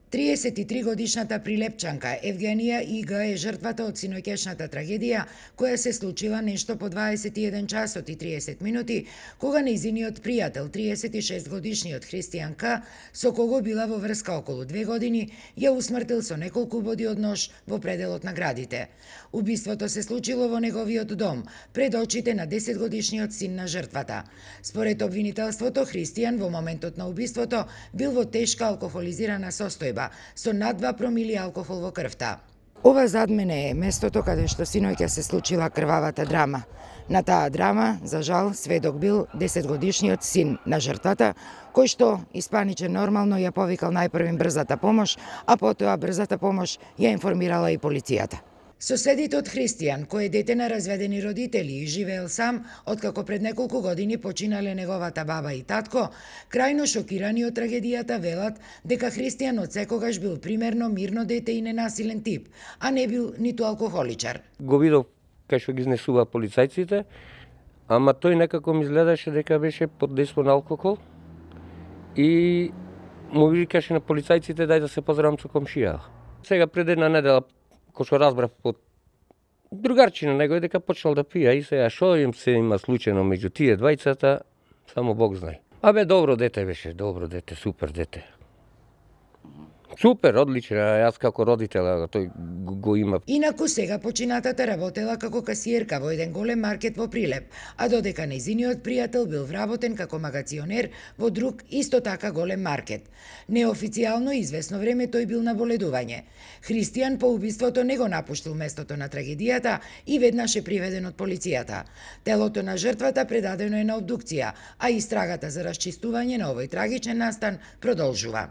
33-годишната прилепчанка Евгенија И.Г. е жртвата од синоќешната трагедија која се случила нешто по 21 часот и 30 минути, кога нејзиниот пријател, 36-годишниот Христијан К., со кого била во врска околу 2 години, ја усмртил со неколку боди од нож во пределот на градите. Убиството се случило во неговиот дом, пред очите на 10-годишниот син на жртвата. Според обвинителството, Христијан во моментот на убиството бил во тешка алкохолизирана состојба, со над 2 промили алкохол во крвта. Ова зад мене е местото каде што синоќа се случила крвавата драма. На таа драма, за жал, сведок бил 10-годишниот син на жртвата, кој што испаничен нормално ја повикал најпрвим брзата помош, а потоа брзата помош ја информирала и полицијата. Соседите од Христијан, кој е дете на разведени родители и живеел сам, откако пред неколку години починале неговата баба и татко, крајно шокирани од трагедијата велат дека Христијан од секогаш бил примерно мирно дете и ненасилен тип, а не бил ниту алкохоличар. Го видов кај што ги изнесува полицајците, ама тој некако ми изгледаше дека беше под дејство на алкохол и му викаше на полицајците дај да се поздравам со комшија. Сега пред една недела кој што разбрав од другарчина него дека почнал да пие и сега што им се има случајно меѓу тие двајцата, само Бог знае. Абе добро дете беше, добро дете, супер дете. Супер, одлично, јас како родител тој го има. Инаку сега починатата работела како касиерка во еден голем маркет во Прилеп, а додека нејзиниот пријател бил вработен како магационер во друг исто така голем маркет. Неофицијално известно време тој бил на боледување. Христијан по убиството не го напуштил местото на трагедијата и веднаш е приведен од полицијата. Телото на жртвата предадено е на обдукција, а истрагата за расчистување на овој трагичен настан продолжува.